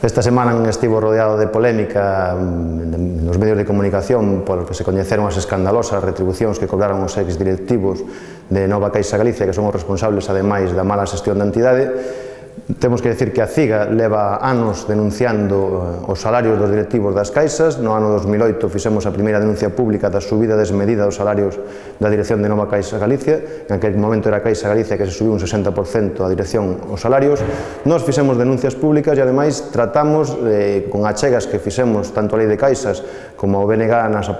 Esta semana estivo rodeado de polémica nos medios de comunicación por que se coñeceron as escandalosas retribucións que cobraron os ex-directivos de Nova Caixa Galicia, que son os responsables, ademais, da mala xestión da entidade. Temos que decir que a CIGA leva anos denunciando os salarios dos directivos das caixas. No ano 2008 fixemos a primeira denuncia pública da subida desmedida dos salarios da dirección de Nova Caixa Galicia. En aquel momento era a Caixa Galicia que se subiu un 60% a dirección os salarios. Nos fixemos denuncias públicas e, ademais, tratamos con achegas que fixemos tanto a Lei de Caixas como o BNG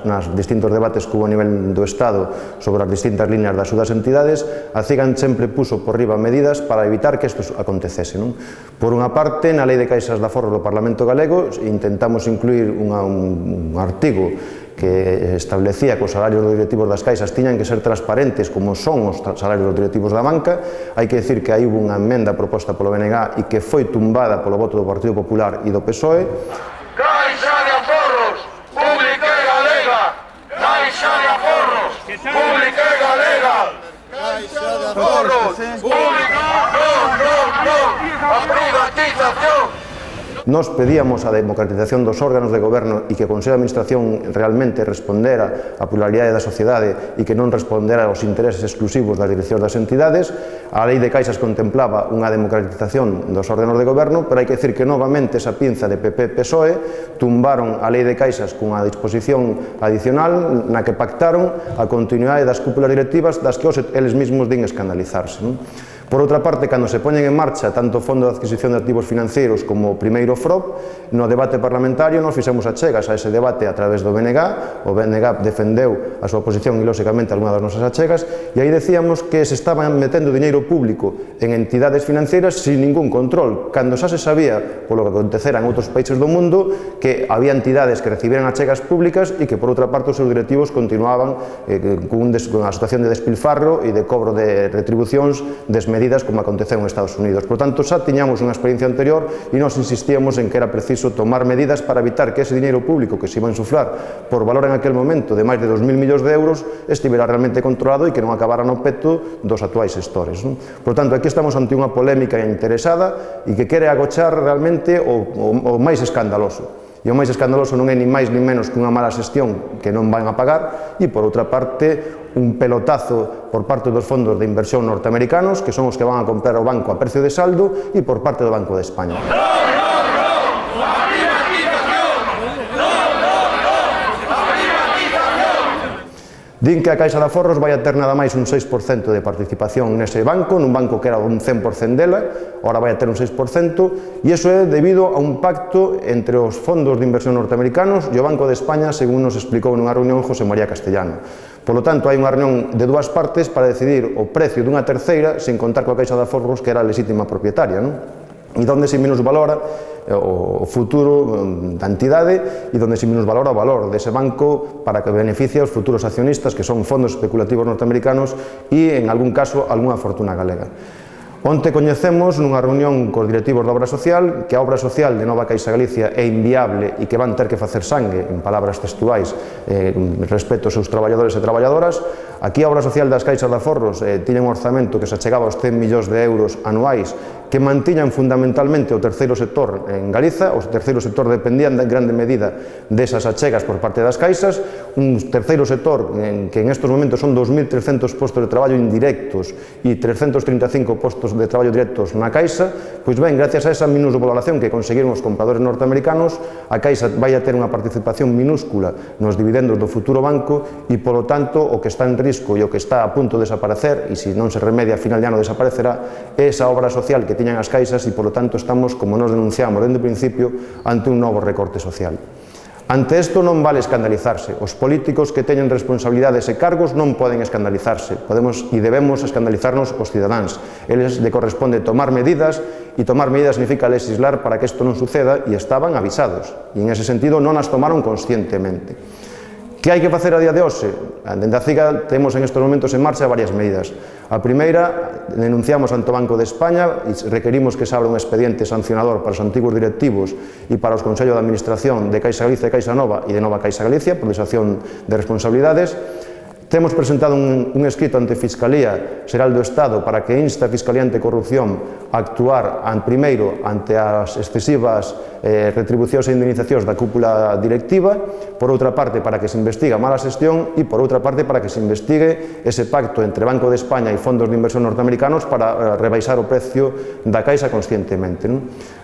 nas distintos debates que hubo a nivel do Estado sobre as distintas líneas das súas entidades. A CIGA sempre puso por riba medidas para evitar que isto acontecese. Por unha parte, na Lei de Caixas de Aforros do Parlamento Galego intentamos incluir un artigo que establecía que os salarios dos directivos das caixas tiñan que ser transparentes como son os salarios dos directivos da banca. Hai que decir que aí hubo unha emenda proposta polo BNG e que foi tumbada polo voto do Partido Popular e do PSOE. Caixa de Aforros, pública e galega! Caixa de Aforros, pública e galega! Caixa de Aforros, pública! A privatización! Nos pedíamos a democratización dos órganos de goberno e que o Consello de Administración realmente respondera á pluralidade da sociedade e que non respondera aos intereses exclusivos das direccións das entidades. A Lei de Caixas contemplaba unha democratización dos órganos de goberno, pero hai que decir que novamente esa pinza de PP-PSOE tumbaron a Lei de Caixas cunha disposición adicional na que pactaron a continuidade das cúpulas directivas das que eles mesmos din escandalizarse. Por outra parte, cando se poñen en marcha tanto o Fondo de Adquisición de Activos Financeiros como o primeiro FROP, no debate parlamentario nos fixemos achegas a ese debate a través do BNG. O BNG defendeu a súa posición e, lóxicamente, algunha das nosas achegas, e aí decíamos que se estaban metendo diñeiro público en entidades financeiras sin ningún control, cando xa se sabía, polo que acontecera en outros países do mundo, que había entidades que recibiran achegas públicas e que, por outra parte, os seus directivos continuaban cunha situación de despilfarro e de cobro de retribucións desmedidas como aconteceu en Estados Unidos. Por tanto, xa tiñamos unha experiencia anterior e nos insistíamos en que era preciso tomar medidas para evitar que ese diñeiro público que se iba a insuflar por valor en aquel momento de máis de 2.000 millóns de euros estivera realmente controlado e que non acabara no peto dos actuais xestores. Por tanto, aquí estamos ante unha polémica interesada e que quere agochar realmente o máis escandaloso. E o máis escandaloso non é ni máis ni menos que unha mala xestión que non van a pagar e, por outra parte, un pelotazo por parte dos fondos de inversión norteamericanos, que son os que van a comprar o banco a precio de saldo, e por parte do Banco de España. Din que a Caixa de Aforros vai a ter nada máis un 6% de participación nese banco, nun banco que era un 100% dela, ahora vai a ter un 6%, e iso é debido a un pacto entre os fondos de inversión norteamericanos e o Banco de España, según nos explicou nunha reunión José María Castellano. Por lo tanto, hai unha reunión de dúas partes para decidir o precio dunha terceira, sin contar coa Caixa de Aforros, que era a lexítima propietaria, e donde se minusvalora o futuro da entidade e donde se minusvalora o valor dese banco para que beneficie aos futuros accionistas, que son fondos especulativos norteamericanos e, en algún caso, algunha fortuna galega. Onte coñecemos nunha reunión cos directivos da obra social que a obra social de Nova Caixa Galicia é inviable e que van ter que facer sangue, en palabras textuais, respecto aos seus traballadores e traballadoras. Aquí a obra social das Caixas de Aforros tiña un orzamento que se achegaba aos 100 millóns de euros anuais que mantiñan fundamentalmente o terceiro sector en Galiza. O terceiro sector dependía en grande medida desas achegas por parte das caixas, un terceiro sector que en estes momentos son 2.300 postos de traballo indirectos e 335 postos de traballo directos na Caixa. Pois ben, gracias a esa minusvaloración que conseguiron os compradores norteamericanos, a Caixa vai a ter unha participación minúscula nos dividendos do futuro banco e, polo tanto, o que está en risco e o que está a punto de desaparecer, e se non se remedia a final de ano desaparecerá, é esa obra social que tiñan as caixas e, polo tanto, estamos, como nos denunciamos dende o principio, ante un novo recorte social. Ante isto non vale escandalizarse. Os políticos que teñen responsabilidades e cargos non poden escandalizarse. Podemos e debemos escandalizarnos os cidadáns. Eles le corresponde tomar medidas, e tomar medidas significa legislar para que isto non suceda, e estaban avisados. E en ese sentido non as tomaron conscientemente. Que hai que facer a día de hoxe? Dende a CIGA temos en estes momentos en marcha varias medidas. A primeira, denunciamos ante o Banco de España e requerimos que se abra un expediente sancionador para os antigos directivos e para os Consellos de Administración de Caixa Galicia e Caixa Nova e de Nova Caixa Galicia por desación de responsabilidades. Temos presentado un escrito ante a Fiscalía Xeral do Estado para que inste a Fiscalía Anticorrupción a actuar primeiro ante as excesivas retribucións e indemnizacións da cúpula directiva, por outra parte para que se investigue a mala xestión e por outra parte para que se investigue ese pacto entre Banco de España e fondos de inversión norteamericanos para rebaixar o precio da Caixa conscientemente.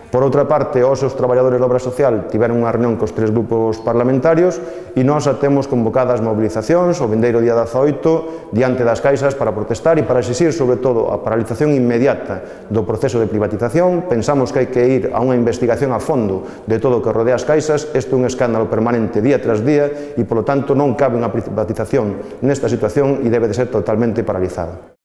Por outra parte, os traballadores da obra social tiveron unha reunión cos 3 grupos parlamentarios e nós temos convocadas mobilizacións o vindeiro día 18 diante das caixas para protestar e para exixir, sobre todo, a paralización inmediata do proceso de privatización. Pensamos que hai que ir a unha investigación a fondo de todo o que rodea as caixas. Isto é un escándalo permanente día tras día e, polo tanto, non cabe unha privatización nesta situación e debe de ser totalmente paralizada.